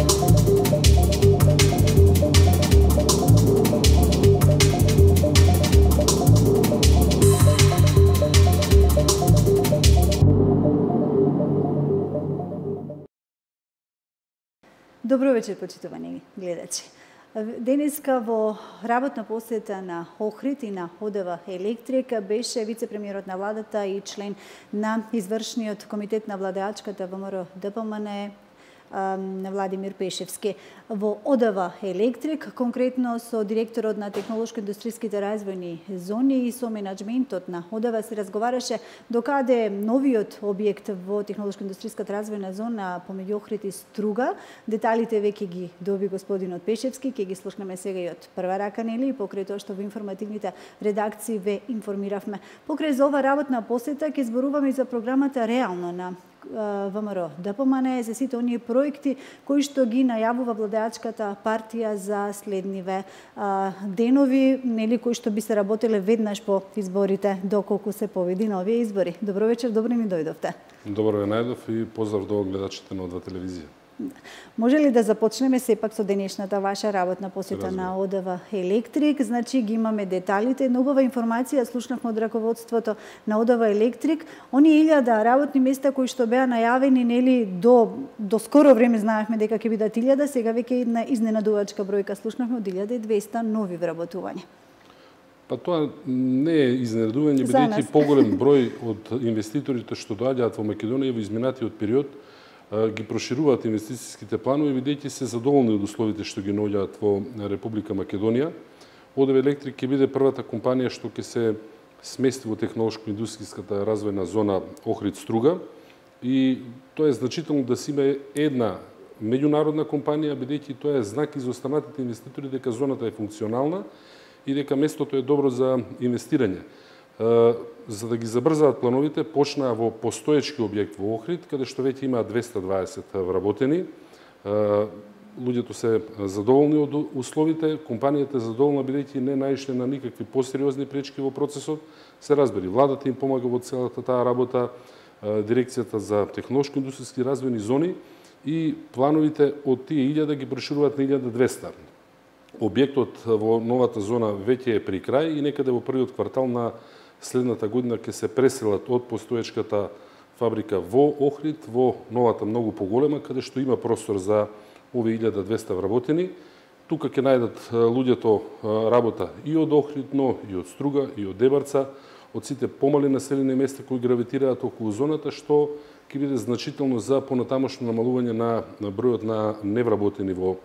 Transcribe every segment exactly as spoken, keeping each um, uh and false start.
Добро вечер, почитувани гледачи. Денеска во работна посета на Охрид и на ОДВ Електрик беше вице-премиерот на владата и член на извршниот комитет на владеачката ВМРО ДПМН Владимир Пешевски. Во ОДВ Електрик, конкретно со директорот на технолошко-индустријските развојни зони и со менаџментот на ОДВ се разговараше докаде новиот објект во технолошко-индустријската развојна зона помеѓу Охрид и Струга. Деталите веќе ги доби господинот Пешевски, ќе ги слушнеме сега и од прва рака, нели, и покрај тоа што во информативните редакции ве информиравме. Покрај за ова работна посета ќе зборуваме и за програмата Реално на ВМРО ДПМН за сите оние проекти кои што ги најавува владеачката партија за следниве а, денови, нели, кои што би се работеле веднаш по изборите, доколку се победи на овие избори. Добро вечер, добро ни дојдовте. Добро ве најдов и поздрав до гледачите на ОДВ телевизија. Може ли да започнеме сепак со денешната ваша работна посета на ОДВ Електрик? Значи ги имаме деталите, една убава информација слушнавме од раководството на ОДВ Електрик. Оние илјада работни места кои што беа најавени, нели, до до скоро време знаевме дека ќе бидат илјада, сега веќе една изненадувачка бројка слушнавме од илјада и двеста нови вработувања. Па тоа не е изненадување, бидејќи поголем број од инвеститорите што доаѓаат во Македонија во изминатиот период ги прошируваат инвестицијските планови, бидејќи се задоволни од условите што ги наоѓаат во Република Македонија. ОДВ Електрик ќе биде првата компанија што ќе се смести во технолошко-индустријската развојна зона Охрид Струга и тоа е значително да се има една меѓународна компанија, бидејќи тоа е знак и за останатите инвеститори дека зоната е функционална и дека местото е добро за инвестирање. За да ги забрзаат плановите, почнаа во постоечки објект во Охрид, каде што веќе има двеста дваесет вработени. Луѓето се задоволни од условите, компанијата е задоволна бидејќи не наишле на никакви посериозни пречки во процесот. Се разбери, владата им помага во целата таа работа, дирекцијата за технолошко-индустријски развојни зони и плановите од тие илјада ги прошируваат на илјада и двеста. Објектот во новата зона веќе е при крај и некаде во првиот квартал на следната година ќе се преселат од постоечката фабрика во Охрид во новата многу поголема, каде што има простор за овие илјада и двеста вработени. Тука ќе најдат луѓето работа и од Охрид, но и од Струга, и од Дебарца, од сите помали населени места кои гравитираат околу зоната, што ќе биде значително за понатамошно намалување на, на бројот на невработени во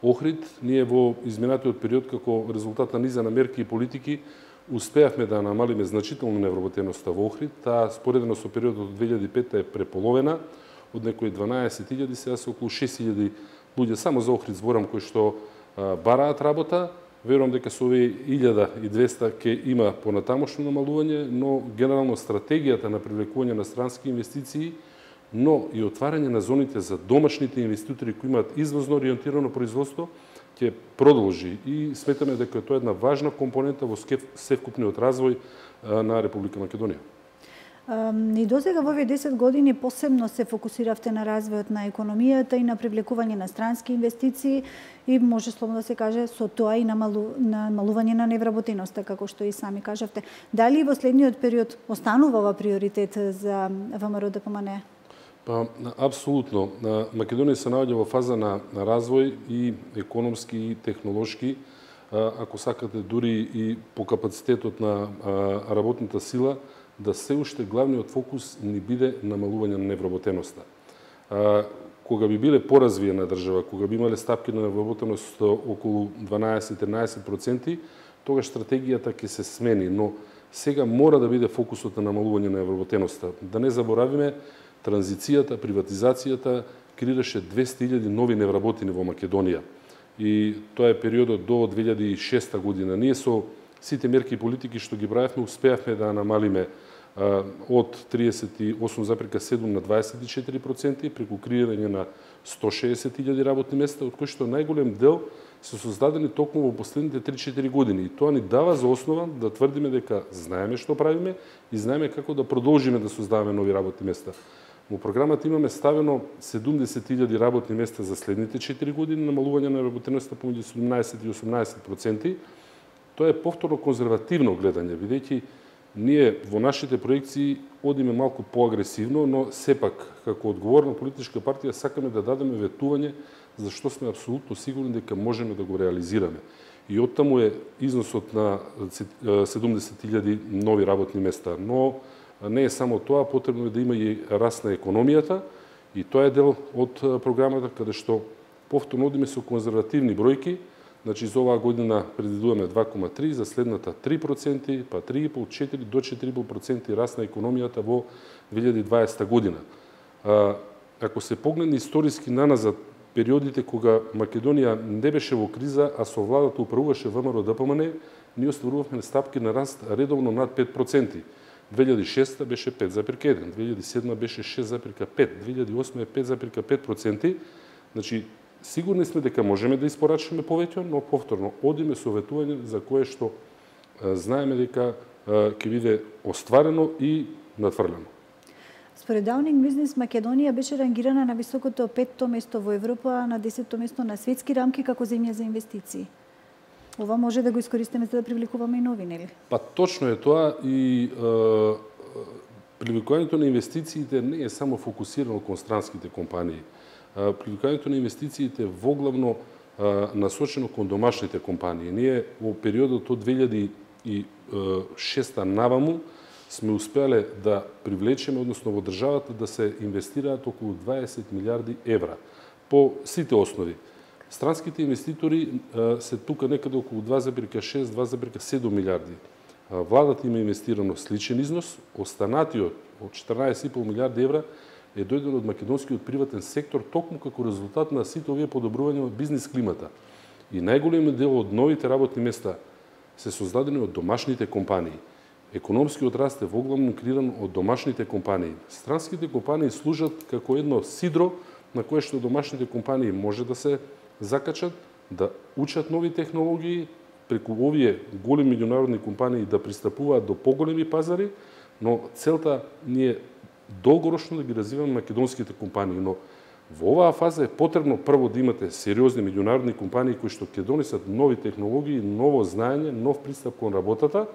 Охрид. Ние во изминатиот период, како резултат на низа на мерки и политики, успеавме да намалиме значително невработеноста во Охрид. Таа споредено со периодот од две илјади и пета е преполовена, од некои дванаесет илјади, сега се околу шест илјади луѓе само за Охрид зборам кои што а, бараат работа. Верувам дека со овие илјада и двеста ќе има понатамошно намалување, но генерално стратегијата на привлекување на странски инвестиции, но и отварање на зоните за домашните инвеститори кои имаат извозно ориентирано производство ќе продолжи и сметаме дека тоа е една важна компонента во севкупниот развој на Република Македонија. И досега во овие десет години посебно се фокусиравте на развојот на економијата и на привлекување на странски инвестиции и може слободно да се каже со тоа и намалу, намалување на невработеноста, како што и сами кажавте. Дали во следниот период останува ова приоритет за ВМРО ДПМН? Па, апсолутно. Македонија се наоѓа во фаза на, на развој и економски и технолошки, ако сакате дури и по капацитетот на работната сила, да се уште главниот фокус ни биде намалување на невработеноста. Кога би биле поразвиена држава, кога би имале стапки на невработеност околу дванаесет-тринаесет проценти, тогаш стратегијата ќе се смени, но сега мора да биде фокусот на намалување на невработеноста. Да не заборавиме, транзицијата, приватизацијата креираше двеста илјади нови невработени во Македонија. И тоа е периодот до две илјади и шеста година. Ние со сите мерки и политики што ги правевме, успеавме да намалиме а, од триесет и осум запирка седум на дваесет и четири проценти преку креирање на сто шеесет илјади работни места, од кои што најголем дел се создадени токму во последните три-четири години. И тоа ни дава за основа да тврдиме дека знаеме што правиме и знаеме како да продолжиме да создаваме нови работни места. Во програмата имаме ставено седумдесет илјади работни места за следните четири години, намалување на работеноста помеѓу седумнаесет и осумнаесет проценти. Тоа е повторно конзервативно гледање, бидејќи ние во нашите проекции одиме малку поагресивно, но сепак како одговорна политичка партија сакаме да дадеме ветување за што сме апсолутно сигурни дека можеме да го реализираме. И оттаму е износот на седумдесет илјади нови работни места, но не е само тоа, потребно е да има и раст на економијата, и тоа е дел од програмата каде што повторно одиме со конзервативни бројки. Значи за оваа година предвидуваме два кома три, за следната три проценти, па три и пол, четири до четири и пол проценти раст на економијата во две илјади и дваесета година. Ако се погледне историски наназад периодите кога Македонија не беше во криза, а со владата управуваше ВМРО-ДПМН, ние остварувавме стапки на раст редовно над пет проценти. две илјади и шеста беше пет запирка еден, две илјади и седма беше шест запирка пет, две илјади и осма е пет запирка пет проценти. Значи, сигурни сме дека можеме да испорачаме повеќе, но повторно одиме со ветување за кое што знаеме дека ќе биде остварено и надфрлено. Според Даунинг Бизнес, Македонија беше рангирана на високото петто место во Европа, на десетто место на светски рамки како земја за инвестиции. Ова може да го искористиме за да привлекуваме и нови, нели? Па точно е тоа, и е, привлекувањето на инвестициите не е само фокусирано кон странските компании. Е, привлекувањето на инвестициите воглавно е, насочено кон домашните компании. Ние во периодот од две илјади и шеста наваму сме успеале да привлечеме, односно во државата да се инвестираат околу дваесет милиарди евра по сите основи. Странските инвеститори се тука некаде околу два запирка шест до два запирка седум милиарди. Владата има инвестирано сличен износ, останатиот од четрнаесет и пол милиарди евра е дојден од македонскиот приватен сектор токму како резултат на сите овие подобрувања во бизнис климата. И најголемиот дел од новите работни места се создадени од домашните компании. Економскиот раст е воглавно креиран од домашните компании. Странските компании служат како едно сидро на кое што домашните компании може да се закачат, да учат нови технологии, преку овие големи меѓународни компании да пристапуваат до поголеми пазари, но целта ни е долгорочно да ги развиваме македонските компании. Но во оваа фаза е потребно прво да имате сериозни меѓународни компании кои што ќе донесат нови технологии, ново знаење, нов пристап кон работата,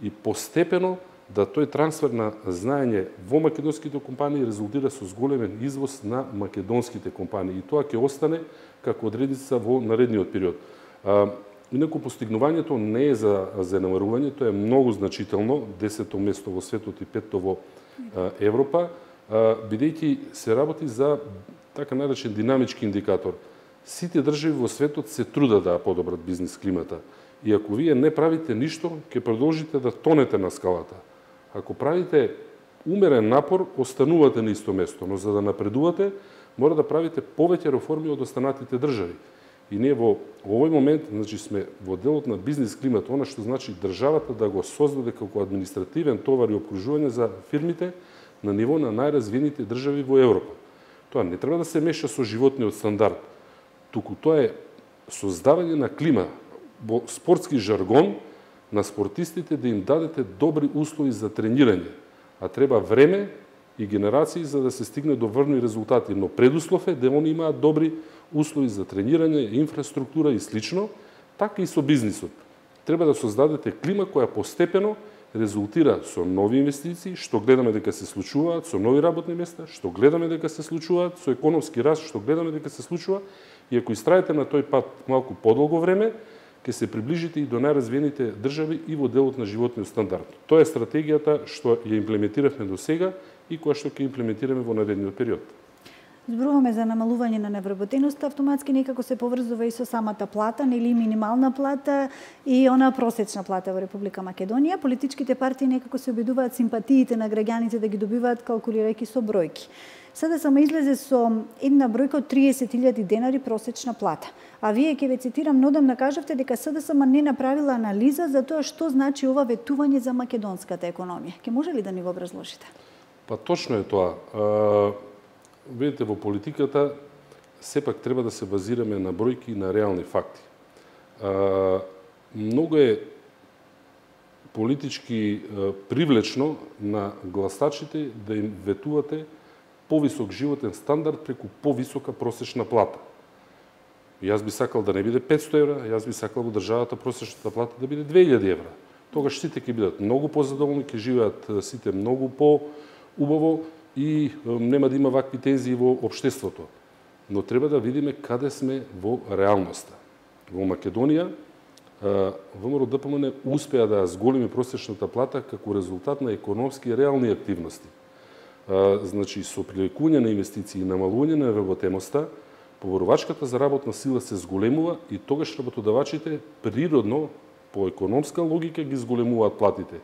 и постепено да тој трансфер на знаење во македонските компании резултира со зголемен извоз на македонските компании. И тоа ќе остане како одредица во наредниот период. А, инаку постигнувањето не е за занемарување, тоа е многу значително, десетто место во светот и петто во а, Европа, а, бидејќи се работи за така наречен динамички индикатор. Сите држави во светот се трудат да подобрат бизнис климата. И ако вие не правите ништо, ќе продолжите да тонете на скалата. Ако правите умерен напор, останувате на исто место, но за да напредувате, мора да правите повеќе реформи од останатите држави. И ние во овој момент, значи, сме во делот на бизнис климат, она што значи државата да го создаде како административен товар и обкружување за фирмите на ниво на најразвиените држави во Европа. Тоа не треба да се меша со животниот стандард, туку тоа е создавање на клима, во спортски жаргон, на спортистите да им дадете добри услови за тренирање, а треба време и генерации за да се стигне до врни резултати, но предуслов е да они имаат добри услови за тренирање, инфраструктура и слично, така и со бизнисот. Треба да создадете клима која постепено резултира со нови инвестиции, што гледаме дека се случуваат, со нови работни места, што гледаме дека се случуваат, со економски раст, што гледаме дека се случува, и ако истраете на тој пат малку подолго време, ќе се приближите и до најразвиените држави и во делот на животниот стандард. Тоа е стратегијата што ја имплементиравме до сега и која што ќе имплементираме во наредниот период. Зборуваме за намалување на невработеноста, автоматски некако се поврзува и со самата плата, нели минимална плата и она просечна плата во Република Македонија. Политичките партии некако се обидуваат симпатиите на граѓаните да ги добиваат калкулирајќи со бројки. СДСМ излезе со една бројка од триесет илјади денари просечна плата. А вие, ќе ве цитирам, нодамна кажавте дека СДСМ не направила анализа за тоа што значи ова ветување за македонската економија. Ке може ли да ни го образложите? Па точно е тоа. А, видите, во политиката сепак треба да се базираме на бројки и на реални факти. А, многу е политички а, привлечно на гласачите да им ветувате повисок животен стандард преку повисока просечна плата. Јас би сакал да не биде петсто евра, јас би сакал во државата просечната плата да биде две илјади евра. Тогаш сите ќе бидат многу позадоволни, ќе живеат сите многу по-убаво и нема да има вакви тензии во општеството. Но треба да видиме каде сме во реалноста. Во Македонија, ВМРО-ДПМН успеа да зголеми просечната плата како резултат на економски и реални активности. Значи, со привлекување на инвестиции и намалување на работемоста, поборувачката за работна сила се зголемува и тогаш работодавачите природно, по економска логика, ги зголемуваат платите.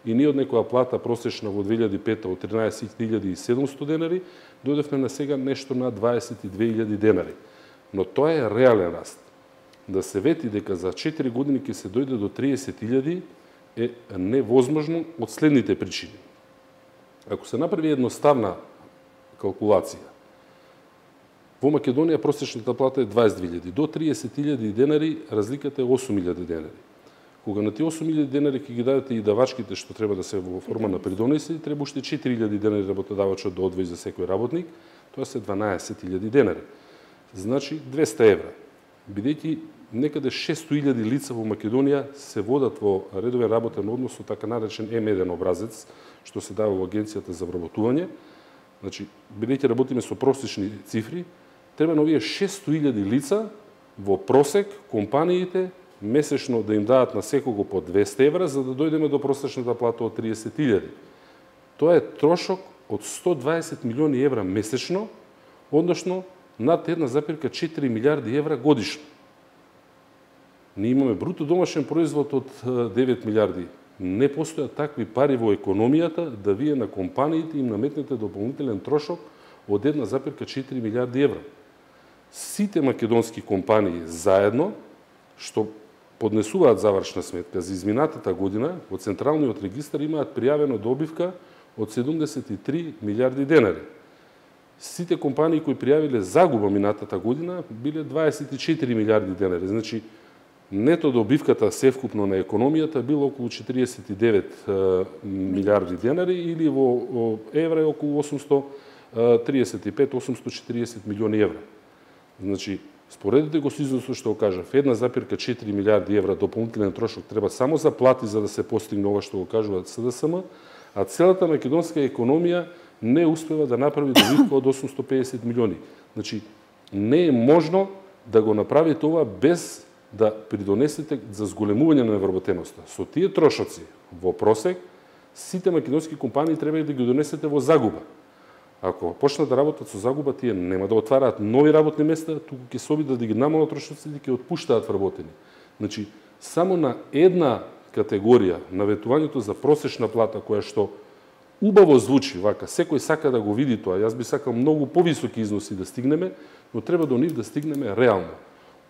И ние од некоја плата просечна во две илјади и пета од тринаесет илјади и седумсто денари, дојдевме на сега нешто на дваесет и две илјади денари. Но тоа е реален раст. Да се вети дека за четири години ќе се дојде до триесет илјади е невозможно од следните причини. Ако се направи едноставна калкулација, во Македонија просечната плата е дваесет две илјади, до триесет илјади денари разликата е осум илјади денари. Кога на тие осум илјади денари ќе ги дадете и давачките што треба да се во форма на придонеси, треба уште четири илјади денари работодавачот да одвои за секој работник, тоа се дванаесет илјади денари. Значи двесте евра. Бидејќи некаде шесто илјади лица во Македонија се водат во редовен работен однос со така наречен Ем еден образец, што се дава во Агенцијата за вработување. Значи, бидејќи работиме со просечни цифри, треба на овие шесто илјади лица во просек компаниите месечно да им дадат на секого по двесте евра, за да дојдеме до просечната плата од триесет илјади. Тоа е трошок од сто дваесет милиони евра месечно, односно над една запирка четири милиарди евра годишно. Ние имаме бруто домашен производ од девет милиарди. Не постојат такви пари во економијата да вие на компаниите им наметнете дополнителен трошок од една запирка четири милиарди евра. Сите македонски компании заедно, што поднесуваат завршна сметка за изминатата година, во Централниот регистар имаат пријавено добивка од седумдесет и три милиарди денари. Сите компании кои пријавиле загуба минатата година биле дваесет и четири милиарди денари. Значи, нето добивката севкупно на економијата било околу четириесет и девет милиарди денари или во евра е околу осумсто триесет и пет до осумсто четириесет милиони евра. Значи, споредете го со износот што го кажав, една запирка четири милиарди евра дополнителен трошок треба само за плати за да се постигне ова што го кажуваат С Д С М, а целата македонска економија не успева да направи добивка од осумсто педесет милиони. Значи, не е можно да го направите ова без да придонесете за зголемување на вработеноста. Со тие трошоци во просек, сите македонски компании треба да ги донесете во загуба. Ако почнат да работат со загуба, тие нема да отвараат нови работни места, туку ќе се обидат да ги намалат трошоците и ќе отпуштаат вработени. Значи, само на една категорија, наветувањето за просечна плата, која што убаво звучи, вака, секој сака да го види тоа, јас би сакал многу повисоки износи да стигнеме, но треба до нив да стигнеме реално.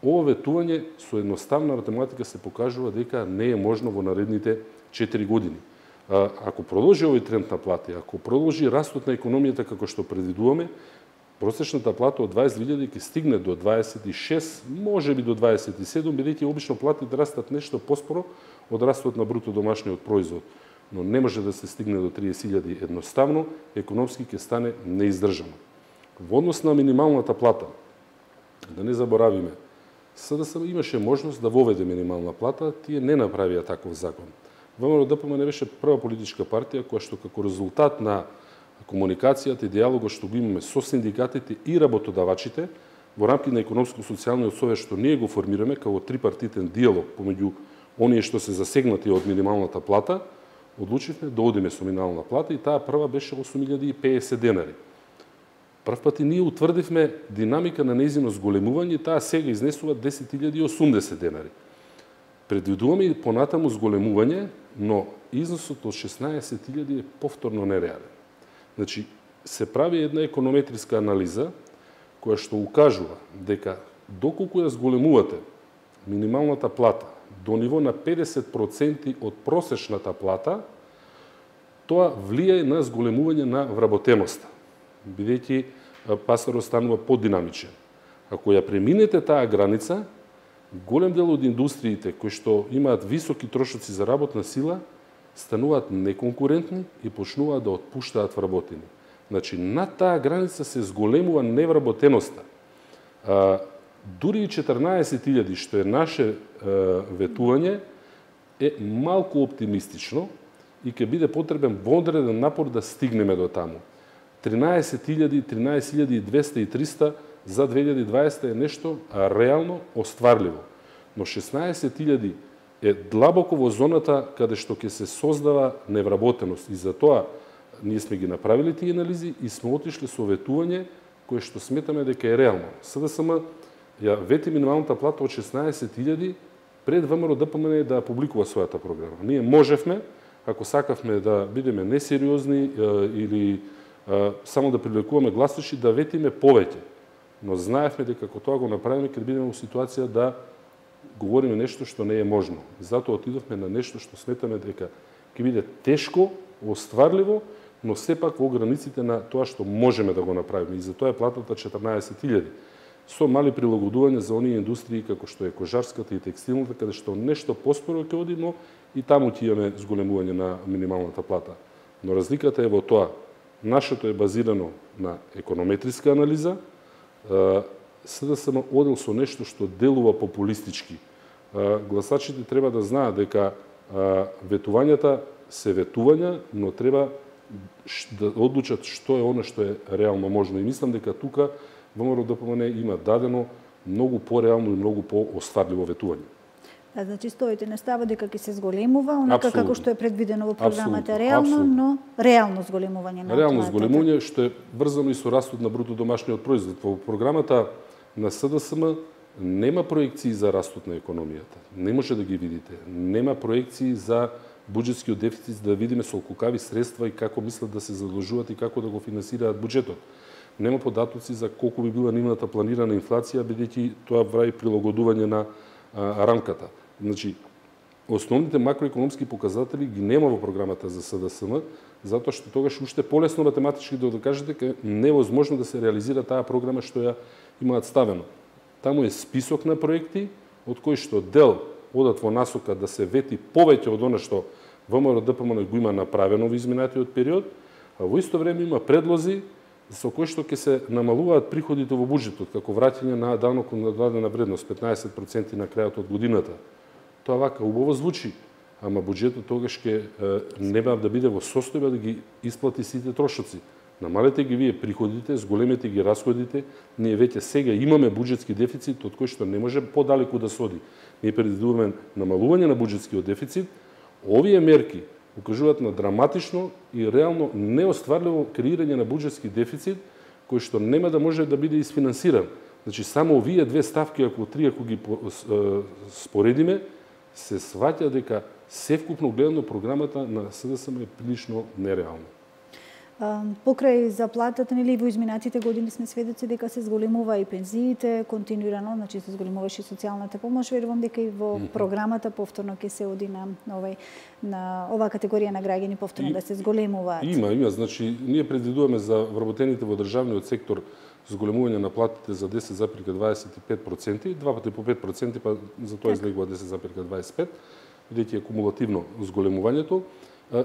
Ова ветување со едноставна математика се покажува дека не е можно во наредните четири години. Ако продолжи овој тренд на плати, ако продолжи растот на економијата како што предвидуваме, просечната плата од дваесет илјади ќе стигне до дваесет и шест, може би до дваесет и седум, бидејќи обично платите растат нешто поспоро од растот на бруто домашниот производ. Но не може да се стигне до триесет илјади едноставно, економски ќе стане неиздржано. Во однос на минималната плата, да не заборавиме, С Д С М имаше можност да воведе минимална плата, тие не направија таков закон. ВМРО-ДПМН беше прва политичка партија која што како резултат на комуникацијата и диалогот што го имаме со синдикатите и работодавачите во рамки на економско-социјалниот совет што ние го формираме како трипартитен диалог помеѓу оние што се засегнати од минималната плата, одлучивме да одиме со минимална плата и таа прва беше осум илјади и педесет денари. Прв пат и ние утврдивме динамика на нејзино зголемување, таа сега изнесува десет илјади и осумдесет денари. Предвидуваме и понатаму зголемување, но износот од шеснаесет илјади е повторно нереален. Значи, се прави една економетриска анализа која што укажува дека доколку ја зголемувате минималната плата до ниво на педесет проценти од просечната плата, тоа влијае на зголемување на вработеноста, бидејќи пазарот станува подинамичен. Ако ја преминете таа граница, голем дел од индустриите кои што имаат високи трошоци за работна сила стануваат неконкурентни и почнуваат да отпуштаат вработени. Значи, на таа граница се зголемува невработеноста. А, дури и четрнаесет илјади, што е наше а, ветување, е малку оптимистично и ќе биде потребен водреден напор да стигнеме до таму. тринаесет илјади, тринаесет илјади и двесте и триста за две илјади и дваесета е нешто реално остварливо. Но шеснаесет илјади е длабоко во зоната каде што ќе се создава невработеност. И затоа ние сме ги направили тие анализи и сме отишли со ветување кое што сметаме дека е реално. СДСМ ја вети минималната плата од шеснаесет илјади пред ВМРО-ДПМН да публикува својата програма. Ние можевме, ако сакавме да бидеме несериозни или само да привлекуваме гласачи, да ветиме повеќе. Но знаевме дека ако тоа го направиме, ќе бидеме во ситуација да говориме нешто што не е можно. Затоа отидовме на нешто што сметаме дека ќе биде тешко, остварливо, но сепак во границите на тоа што можеме да го направиме. И затоа е платата четрнаесет илјади. Со мали прилагодувања за оние индустрии како што е кожарската и текстилната, каде што нешто поспоро ќе оди, но и таму ќе имаме зголемување на минималната плата. Но разликата е во тоа. Нашето е базирано на економетриска анализа, СДСМ одел со нешто што делува популистички. Гласачите треба да знаат дека ветувањата се ветувања, но треба да одлучат што е оно што е реално можно. И мислам дека тука ВМРО-ДПМН има дадено многу пореално и многу по-остварливо ветување. А, значи, стоите на става дека ќе се зголемува, онака Абсолютно. како што е предвидено во програмата, Абсолютно. реално, Абсолютно. но реално зголемување на Реално платата. зголемување што е врзано и со растот на бруто домашниот производ. Во програмата на СДСМ нема проекции за растот на економијата. Не може да ги видите. Нема проекции за буџетскиот дефицит, да видиме со колкави средства и како мислат да се задлужуваат и како да го финансираат буџетот. Нема податоци за колку би била нивната планирана инфлација, бидејќи тоа прави прилагодување на а, рамката. Значи, основните макроекономски показатели ги нема во програмата за СДСМ, затоа што тогаш уште полесно математички да докажете дека невозможно да се реализира таа програма што ја имаат ставено. Таму е список на проекти, од кои што дел одат во насока да се вети повеќе од она што ВМРО-ДПМН го има направено во изминатиот период, а во исто време има предлози со кои што ќе се намалуваат приходите во буџетот, како враќање на данок на додадена вредност, петнаесет проценти на крајот од годината. Тоа вака убаво звучи, ама буџетот тогаш ќе нема да биде во состојба да ги исплати сите трошоци. Намалете ги вие приходите, зголемете ги расходите, ние веќе сега имаме буџетски дефицит од кој што не може подалеку да се оди. Ние предвидуваме намалување на буџетскиот дефицит. Овие мерки укажуваат на драматично и реално неостварливо креирање на буџетски дефицит кој што нема да може да биде isfinansиран. Значи само овие две ставки, ако три, ако ги споредиме, се сваќа дека севкупно гледано програмата на СДСМ е прилично нереална. Покрај заплатата, нели, во изминатите години сме сведоци дека се зголемува и пензиите, континуирано, значи се зголемуваше и социјалната помош. Верувам дека и во програмата повторно ќе се оди на овај на оваа категорија на граѓани повторно и, да се зголемуваат. Има, има, значи ние предвидуваме за вработените во државниот сектор зголемување на платите за десет запирка дваесет и пет проценти, два пати по пет проценти, па за тоа излегува десет запирка дваесет и пет, бидејќи е кумулативно зголемувањето.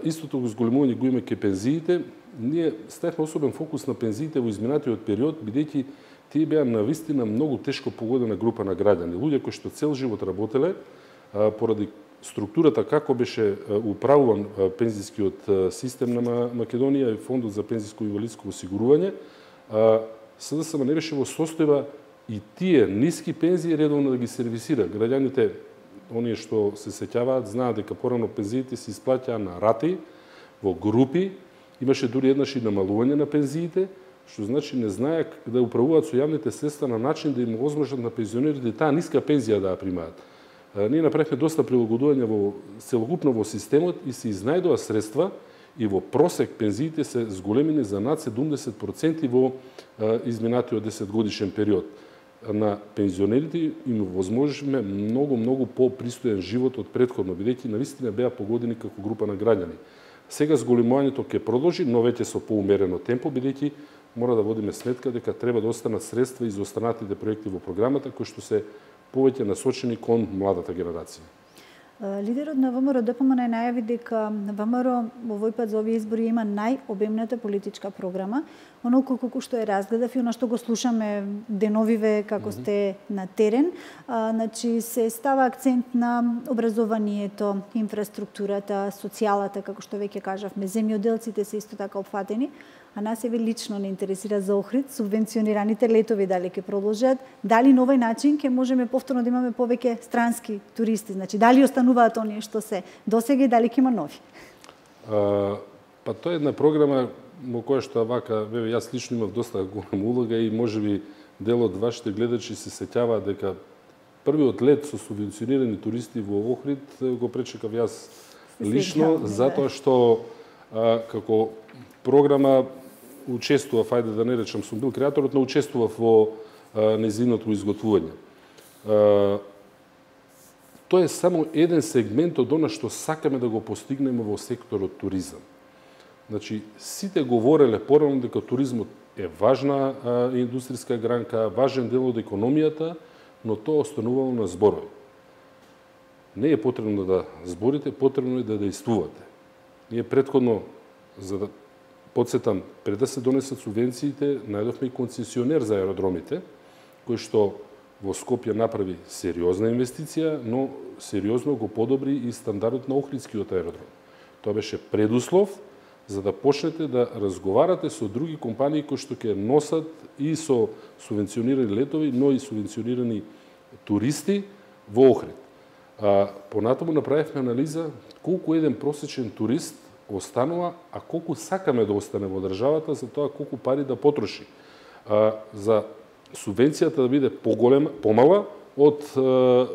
Истото го зголемување го има ке пензиите. Ние ставивме особен фокус на пензиите во изминатиот период, бидејќи тие беа навистина многу тешко погодена група на граѓани. Луѓе кои што цел живот работеле, поради структурата како беше управуван пензискиот систем на Македонија и Фондот за пензиско и инвалидско осигурување, СДСМ не беше во состојба и тие ниски пензии редовно да ги сервисира. Граѓаните, оние што се сеќаваат, знаат дека порано пензиите се исплаќаа на рати, во групи, имаше дури еднаш и намалување на пензиите, што значи не знаеа да управуваат со јавните средства на начин да им возможат на пензионерите таа ниска пензија да ја примаат. Ние направивме доста прилагодување во целокупно во системот и се изнајдоа средства и во просек пензиите се зголемени за над седумдесет проценти во изминатиот десетгодишен период. На пензионерите им возможиме многу, многу по-пристоен живот од претходно, бидејќи навистина беа погодени како група на граѓани. Сега зголемувањето ќе продолжи, но веќе со поумерено темпо, бидејќи мора да водиме сметка дека треба да останат средства и за останатите проекти во програмата кои што се повеќе насочени кон младата генерација. Лидерот на ВМРО Д П М Н најави дека ВМРО овој пат за овие избори има најобемната политичка програма, оноко колку што е разгледав и она што го слушаме деновиве како mm -hmm. сте на терен, а, значи се става акцент на образованието, инфраструктурата, социјалата, како што веќе кажавме, земјоделците се исто така опфатени, а нас еве лично не интересира за Охрид, субвенционираните летови дали ќе продолжат, дали на овој начин ќе можеме повторно да имаме повеќе странски туристи, значи дали остануваат оние што се досега и дали ќе има нови? А, па тоа е една програма во која што вака, ве јас лично имав доста голема улога и можеби дел од вашите гледачи се сеќаваат дека првиот лет со субвенционирани туристи во Охрид го пречекав јас лично, затоа што а, како програма учествував, ајде да не речам сум бил креаторот, но учествував во а, незиното изготвување. А, тоа е само еден сегмент од она што сакаме да го постигнеме во секторот туризам. Значи, сите говореле порано дека туризмот е важна а, индустријска гранка, важен дел од економијата, но тоа останувало на зборови. Не е потребно да зборите, потребно е да действувате. Ние претходно, за да подсетам, пред да се донесат субвенциите, најдовме и концесионер за аеродромите, кој што во Скопје направи сериозна инвестиција, но сериозно го подобри и стандардот на Охридскиот аеродром. Тоа беше предуслов за да почнете да разговарате со други компании кои што ќе носат и со субвенционирани летови, но и субвенционирани туристи во Охрид. А, понатаму направивме анализа колку еден просечен турист останува, а колку сакаме да остане во државата за тоа колку пари да потроши. А, за субвенцијата да биде поголема, помала од а,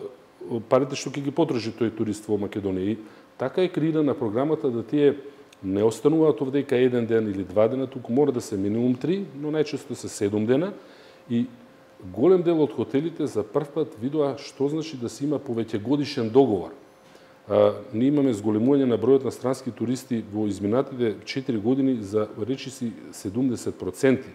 парите што ќе ги потроши тој турист во Македонија. И така е креирана програмата да тие не остануваат овдека еден ден или два дена, туку мора да се минимум три, но најчесто се седум дена. И голем дел од хотелите за прв пат видоа што значи да се има повеќе годишен договор. А, ние имаме зголемување на бројот на странски туристи во изминатите четири години за речиси седумдесет проценти.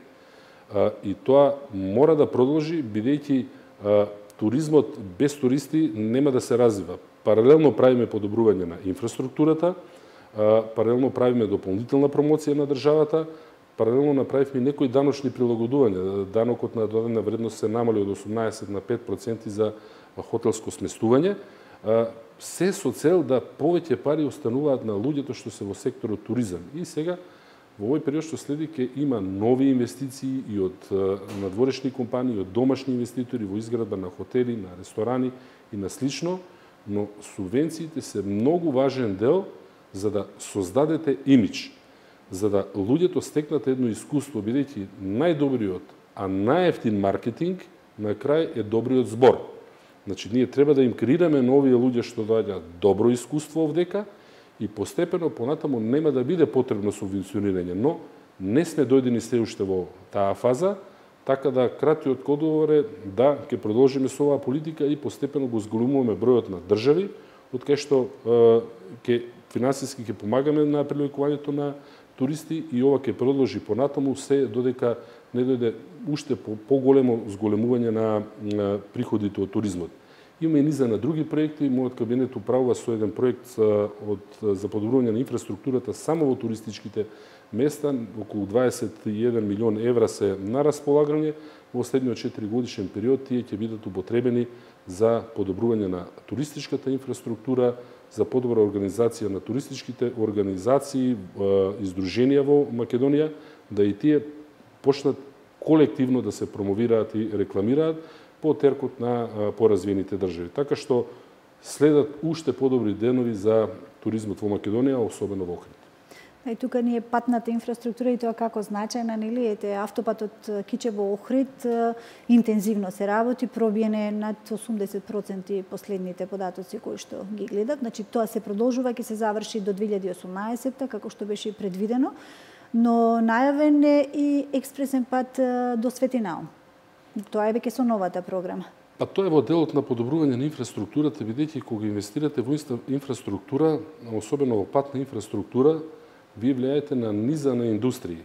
А, и тоа мора да продолжи, бидејќи а, туризмот без туристи нема да се развива. Паралелно правиме подобрување на инфраструктурата, а, паралелно правиме дополнителна промоција на државата, паралелно направивме некои даночни прилагодувања. Данокот на додадена вредност се намали од осумнаесет на пет проценти за хотелско сместување. А, се со цел да повеќе пари остануваат на луѓето што се во секторот туризам. И сега, во овој период што следи, ќе има нови инвестиции и од надворешни компании, и од домашни инвеститори во изградба на хотели, на ресторани и на слично, но субвенциите се многу важен дел за да создадете имидж, за да луѓето стекнат едно искуство, бидејќи најдобриот, а најевтин маркетинг на крај е добриот збор. Значи, ние треба да им креираме на овие луѓе што доаѓаат добро искуство овдека и постепено понатаму нема да биде потребно субвенционирање, но не сме дојдени се уште во таа фаза, така да кратиот одговор е да ќе продолжиме со оваа политика и постепено го зголемуваме бројот на држави, од кај што ќе финансиски ќе помагаме на привлекувањето на туристи и ова ќе продолжи понатаму се додека не дојде уште поголемо зголемување на, на приходите од туризмот. Има и низа на други проекти, мојот кабинет управува со еден проект од, за подобрување на инфраструктурата само во туристичките места, околу дваесет и еден милион евра се на располагање. Во следниот четири годишен период тие ќе бидат употребени за подобрување на туристичката инфраструктура, за подобра организација на туристичките организации, издруженија во Македонија, да и тие почнат колективно да се промовираат и рекламираат по теркот на поразвиените држави. Така што следат уште подобри денови за туризмот во Македонија, особено во Охрид. И тука ни е патната инфраструктура и тоа како значајна, нели, ете автопатот Кичево Охрид интензивно се работи, пробиене над осумдесет проценти последните податоци кои што ги гледат. Значи тоа се продолжува, ќе се заврши до две илјади и осумнаесетта како што беше и предвидено, но најавен е и експресен пат до Светинаум. Тоа е веќе со новата програма. Па тоа е во делот на подобрување на инфраструктурата, бидејќи кога инвестирате во инфраструктура, особено во патна инфраструктура, вие влијаете на низа на индустрии.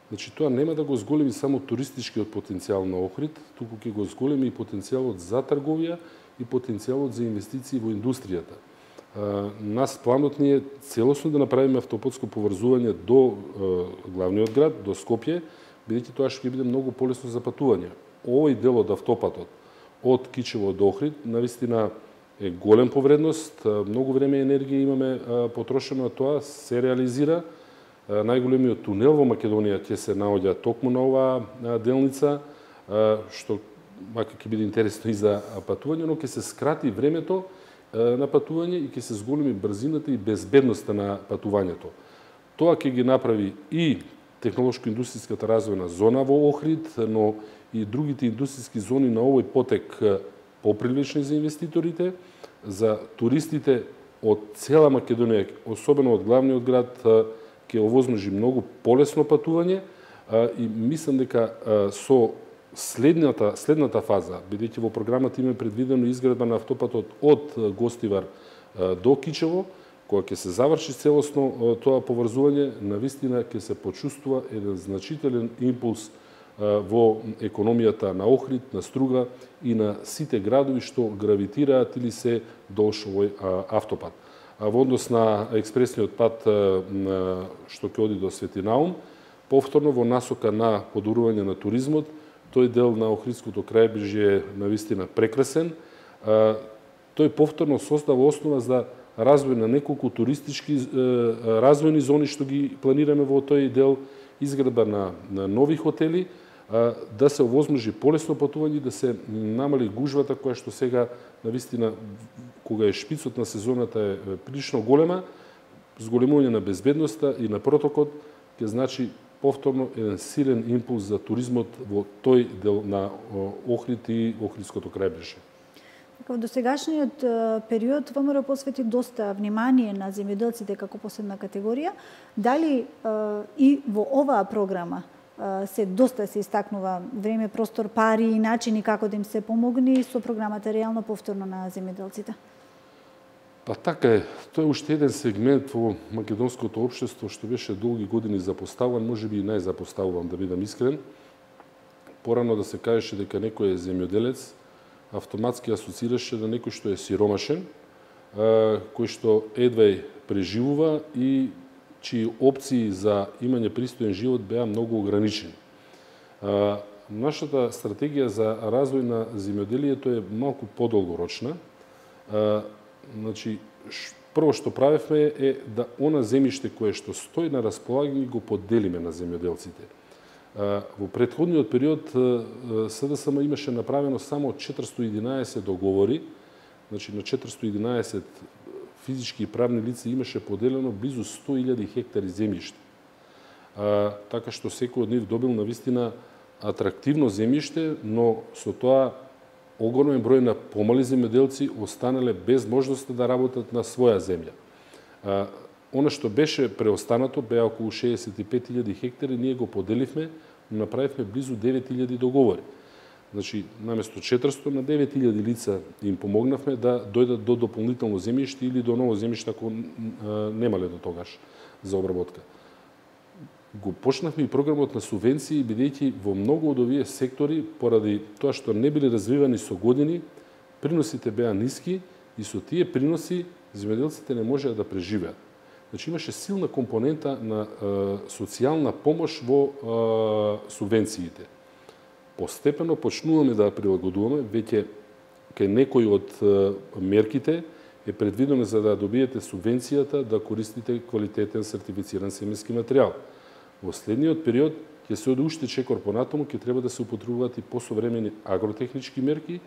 Значи, тоа нема да го зголеми само туристичкиот потенцијал на Охрид, туку ќе го зголеми и потенцијалот за трговија и потенцијалот за инвестиции во индустријата. нас планот ни е целосно да направиме автопутско поврзување до главниот град, до Скопје, бидејќи тоа ќе биде многу полесно за патување. Овој дел од автопатот од Кичево до Охрид навистина е голем по вредност, многу време и енергија имаме потрошено, а тоа се реализира. Најголемиот тунел во Македонија ќе се наоѓа токму на оваа делница, што макар ќе биде интересно и за патување, но ќе се скрати времето на патување и ќе се зголеми брзината и безбедноста на патувањето. Тоа ќе ги направи и технолошко-индустријската развојна зона во Охрид, но и другите индустријски зони на овој потек попривлечни за инвеститорите, за туристите од цела Македонија, особено од главниот град, ќе овозможи многу полесно патување и мислам дека со следната следната фаза, бидејќи во програмата има предвидено изградба на автопатот од Гостивар до Кичево, кога ќе се заврши целосно тоа поврзување, навистина ќе се почувствува еден значителен импулс во економијата на Охрид, на Струга и на сите градови што гравитираат или се долж овој автопат. А во однос на експресниот пат што ќе оди до Свети Наум, повторно во насока на подобрување на туризмот, тој дел на Охридското крајбрежје е навистина прекрасен. Тој повторно создава основа за развој на неколку туристички развојни зони што ги планираме во тој дел, изградба на, на нови хотели, да се овозможи полесно патување, да се намали гужвата која што сега навистина кога е шпицот на сезоната е прилично голема, зголемување на безбедноста и на протокот ќе значи повторно еден силен импулс за туризмот во тој дел на Охрид и Охридското крајбрежје. Во досегашниот период ВМРО посвети доста внимание на земјоделците како посебна категорија. Дали и во оваа програма се доста се истакнува време, простор, пари и начини како да им се помогне со програмата реално повторно на земјоделците? Па така е. Тоа е уште еден сегмент во македонското општество што беше долги години запоставуван, можеби и најзапоставуван, да бидам искрен. Порано да се кажеше дека некој е земјоделец, автоматски асоцираше на некој што е сиромашен, кој што едва преживува и чии опции за имање пристоен живот беа многу ограничени. Нашата стратегија за развој на земјоделието е малку подолгорочна. Значи, прво што правевме е да она земјиште кое што стои на располагање го поделиме на земјоделците. Во претходниот период СДСМ имаше направено само четиристо и единаесет договори, значи на четиристо и единаесет физички и правни лица имаше поделено близу сто илјади хектари земјиште. Така што секој од нив добил навистина атрактивно земјиште, но со тоа огромен број на помали земјоделци останале без можност да работат на своја земја. Она што беше преостанато беа околу шеесет и пет илјади хектари, ние го поделивме, направивме близу девет илјади договори. Значи, наместо четиристо на девет илјади лица им помогнавме да дојдат до дополнително земјиште или до ново земјиште ако немале до тогаш за обработка. Го почнавме и програмот на субвенции, бидејќи во многу од овие сектори, поради тоа што не биле развивани со години, приносите беа ниски и со тие приноси земјоделците не можеа да преживеат. Значи, имаше силна компонента на е, социјална помош во е, субвенциите. Постепено почнуваме да прилагодуваме, веќе кај некои од е, мерките е предвидено за да добиете субвенцијата да користите квалитетен сертифициран семенски материјал. Во следниот период ќе се оди уште чекор понатаму, ќе треба да се употребуваат и посовремени агротехнички мерки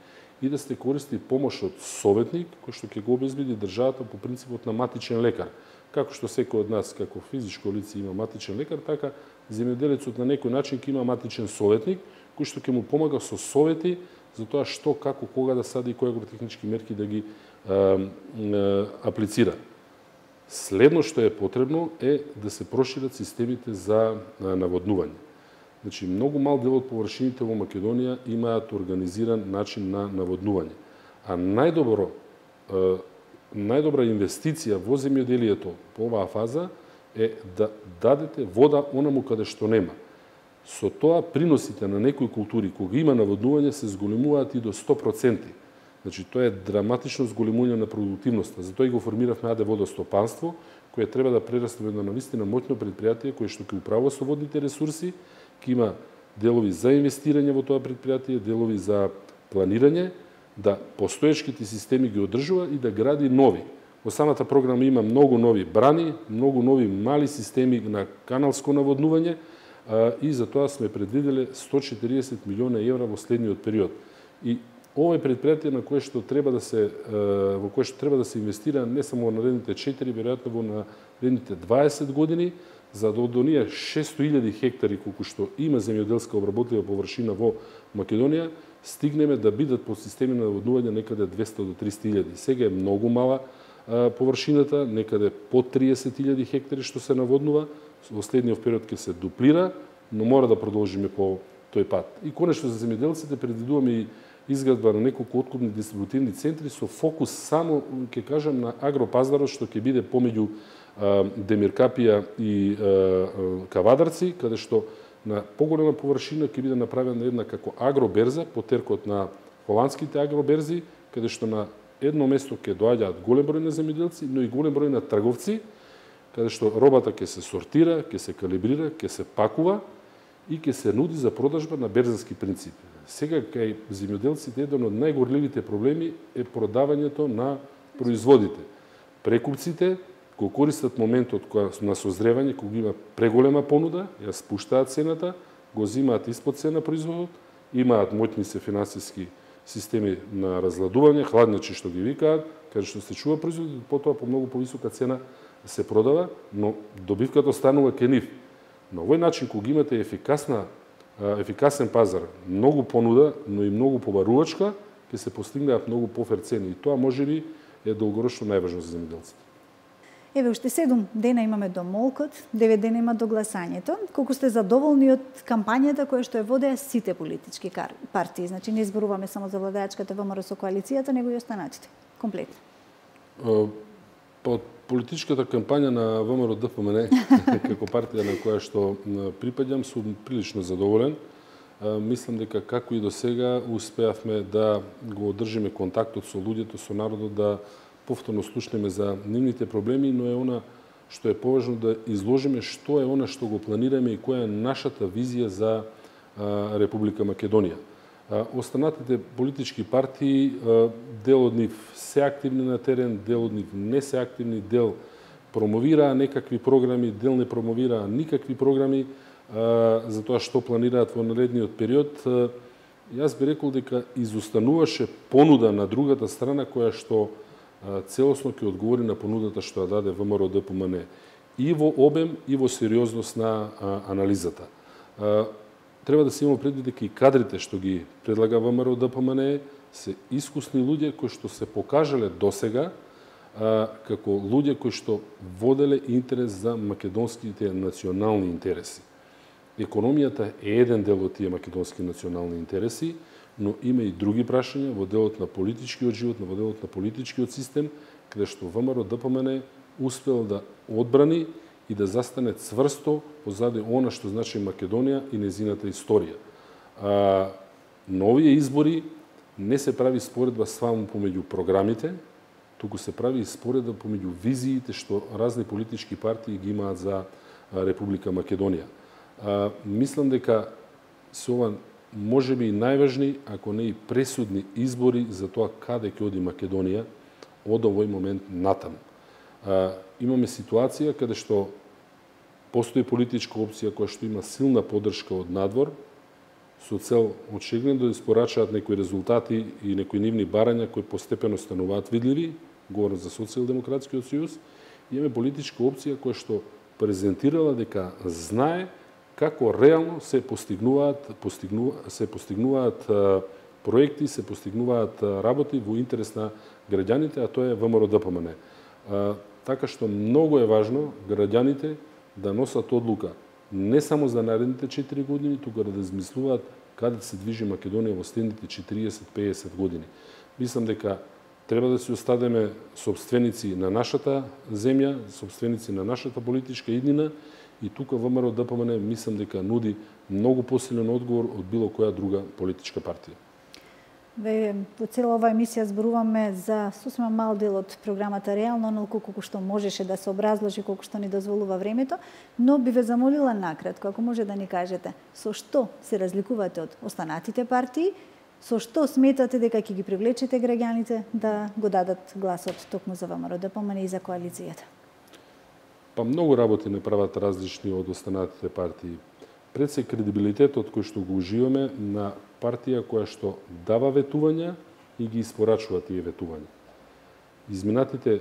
и да се користи помош од советник, кој што ќе го обезбеди државата по принципот на матичен лекар. Како што секој од нас, како физичко лице има матичен лекар, така земјоделецот на некој начин ќе има матичен советник, кој што ќе му помага со совети за тоа што, како, кога да сади и кои агротехнички мерки да ги е, е, аплицира. Следно што е потребно е да се прошират системите за наводнување. Значи, многу мал дел од површините во Македонија имаат организиран начин на наводнување. А најдобро, најдобра инвестиција во земјоделието по оваа фаза е да дадете вода онаму каде што нема. Со тоа приносите на некои култури кога има наводнување се зголемуваат и до сто проценти. Значи, тоа е драматично зголемување на продуктивноста. Затоа и го формиравме АД Водостопанство, кое треба да прерасне во едно навистина моќно предпријатие кое што ќе управува со водните ресурси, ќе има делови за инвестирање во тоа предпријатие, делови за планирање, да постоечките системи ги одржува и да гради нови. Во самата програма има многу нови брани, многу нови мали системи на каналско наводнување и за тоа сме предвиделе сто и четиридесет милиона евра во следниот период. И ова е предпријатие на кое што треба да се во кое што треба да се инвестира не само во наредните четири, веројатно во наредните дваесет години, за да од оние шесто илјади хектари колку што има земјоделска обработлива површина во Македонија, стигнеме да бидат по системи на наводнување некаде двесте до триста илјади. Сега е многу мала површината, некаде под триесет илјади хектари што се наводнува, во следниот период ќе се дуплира, но мора да продолжиме по тој пат. И конечно за земјоделците предвидуваме и изградба на неколку откупни дистрибутивни центри со фокус само, ќе кажам, на агропазарот што ќе биде помеѓу Демиркапија и Кавадарци, каде што на поголема површина ќе биде направена една како агроберза по теркот на холандските агроберзи, каде што на едно место ќе доаѓаат голем број на земјоделци, но и голем број на трговци, каде што робата ќе се сортира, ќе се калибрира, ќе се пакува и ќе се нуди за продажба на берзански принципи. Сега кај земјоделците еден од најгорливите проблеми е продавањето на производите. Прекупците го користат моментот на созревање, кога има преголема понуда, ја спуштаат цената, го зимаат испод цена производот, имаат моќни се финансиски системи на разладување, хладничи што ги викаат, каде што се чува производот, потоа по многу повисока цена се продава, но добивката останува кај нив. На овој начин, кога имате ефикасна, ефикасен пазар, многу понуда, но и многу побарувачка, ќе се постигнеат многу пофер цени. И тоа можеби е долгорочно најважно за земјоделците. Еве, уште седум дена имаме до молкот, девет дена има до гласањето. Колку сте задоволни од кампањата која што ја водеа сите политички партии? Значи, не зборуваме само за владеачката ВМРО со коалицијата, него и останатите. Комплетно. Па од политичката кампања на ВМРО-ДПМН, како партија на која што припаѓам, сум прилично задоволен. Мислам дека како и до сега успеавме да го одржиме контактот со луѓето, со народот, да повторно слушнеме за нивните проблеми, но е она што е поважно да изложиме што е она што го планираме и која е нашата визија за Република Македонија. Останатите политички партии, дел од нив се активни на терен, дел од нив не се активни, дел промовираа некакви програми, дел не промовираа никакви програми за тоа што планираат во наредниот период. Јас би рекол дека изостануваше понуда на другата страна која што целосно ќе одговори на понудата што ја даде ВМРО-ДПМН и во обем и во сериозност на анализата. Треба да се има предвид дека и кадрите што ги предлага ВМРО-ДПМН се искусни луѓе кои што се покажале досега како луѓе кои што воделе интерес за македонските национални интереси. Економијата е еден дел од тие македонски национални интереси, но има и други прашања во делот на политичкиот живот, во делот на политичкиот систем, каде што ВМРО-ДПМН успел да одбрани и да застане цврсто позади она што значи Македонија и незината историја. А, на овие избори не се прави споредба само помеѓу програмите, туку се прави споредба помеѓу визиите што разни политички партии ги имаат за Република Македонија. А, мислам дека се ова можеби и најважни, ако не и пресудни избори за тоа каде ќе оди Македонија од овој момент натаму. А, имаме ситуација каде што постои политичка опција која што има силна поддршка од надвор, со цел очигледно да испорачаат некои резултати и некои нивни барања кои постепено стануваат видливи, говорам за Социјалдемократскиот сојуз, имаме политичка опција која што презентирала дека знае како реално се постигнуваат, постигнуваат се постигнуваат проекти, се постигнуваат работи во интерес на граѓаните, а тоа е ВМРО-ДПМН. Така што многу е важно граѓаните да носат одлука не само за наредните четири години, туку да измислуваат каде се движи Македонија во следните четириесет до пеесет години. Мислам дека треба да се остадеме собственици на нашата земја, собственици на нашата политичка иднина, и тука ВМРО-ДПМН мислам дека нуди многу посилен одговор од било која друга политичка партија. Во цела оваа емисија зборуваме за сосема мал дел од програмата реално, онолку колку што можеше да се образложи, колку што ни дозволува времето, но би ве замолила накратко, ако може да ни кажете, со што се разликувате од останатите партии, со што сметате дека ќе ги привлечете граѓаните да го дадат гласот токму за ВМРО-ДПМН и за коалицијата? Па многу работи не прават различни од останатите партии. Пред се кредибилитетот кој што го уживаме на партија која што дава ветувања и ги испорачува тие ветувања. Изминатите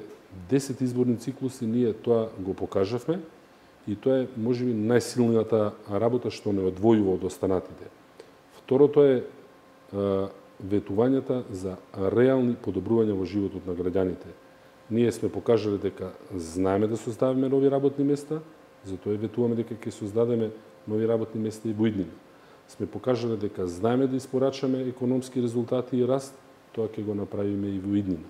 десет изборни циклуси ние тоа го покажавме и тоа е можеби најсилната работа што не одвојува од останатите. Второто е ветувањата за реални подобрувања во животот на граѓаните. Ние сме покажале дека знаеме да создаваме нови работни места, затоа ветуваме дека ќе создадеме нови работни места и во иднина. Сме покажале дека знаеме да испорачаме економски резултати и раст, тоа ќе го направиме и во иднина.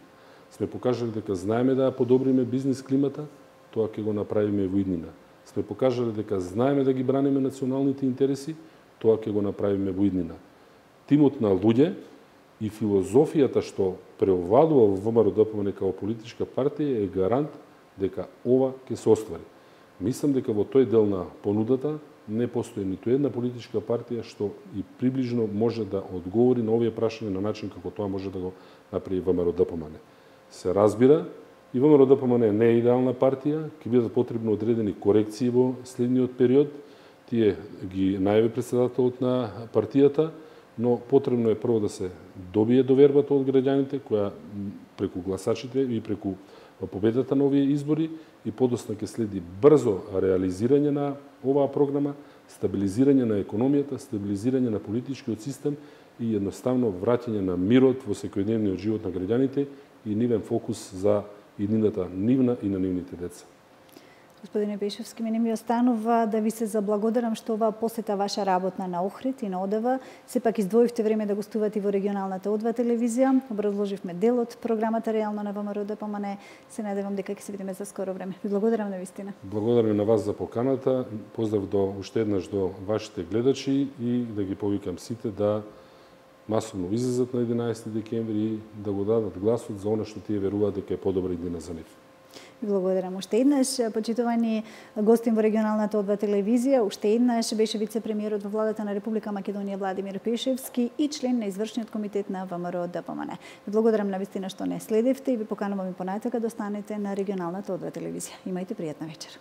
Сме покажале дека знаеме да подобриме бизнис климата, тоа ќе го направиме и во иднина. Сме покажале дека знаеме да ги браниме националните интереси, тоа ќе го направиме во иднина. Тимот на луѓе и филозофијата што преовладува во ВМРО-ДПМН како политичка партија е гарант дека ова ќе се оствари. Мислам дека во тој дел на понудата не постои ниту една политичка партија што и приближно може да одговори на овие прашања на начин како тоа може да го направи ВМРО-ДПМН. Се разбира, и ВМРО-ДПМН не е идеална партија, ќе бидат потребни одредени корекции во следниот период. Тие ги најави претседателот на партијата, но потребно е прво да се добие довербата од граѓаните, која преку гласачите и преку победата на овие избори, и подоцна ќе следи брзо реализирање на оваа програма, стабилизирање на економијата, стабилизирање на политичкиот систем и едноставно враќање на мирот во секојдневниот живот на граѓаните и нивен фокус за иднината нивна и на нивните деца. Господине Пешевски, мене ми останува да ви се заблагодарам што оваа посета ваша работна на Охрид и на ОДВ. Сепак издвоивте време да гостувате во регионалната ОДВ телевизија. Образложивме дел од програмата реално на ВМРО-ДПМН. Се надевам дека ќе се видиме за скоро време. Ви благодарам навистина. Благодарам на вас за поканата. Поздрав до уште еднаш до вашите гледачи и да ги повикам сите да масовно излезат на единаесети декември и да го дадат гласот за она што тие веруваат дека е подобра иднина за нив. Благодарам уште еднаш. Почитувани гостин во регионалната ОДВ телевизија, уште еднаш беше вице-премиерот во владата на Република Македонија Владимир Пешевски и член на извршниот комитет на ВМРО-ДПМН. Ви благодарам навистина што не следевте и ви поканувам и понатака да останете на регионалната ОДВ телевизија. Имајте пријатна вечер.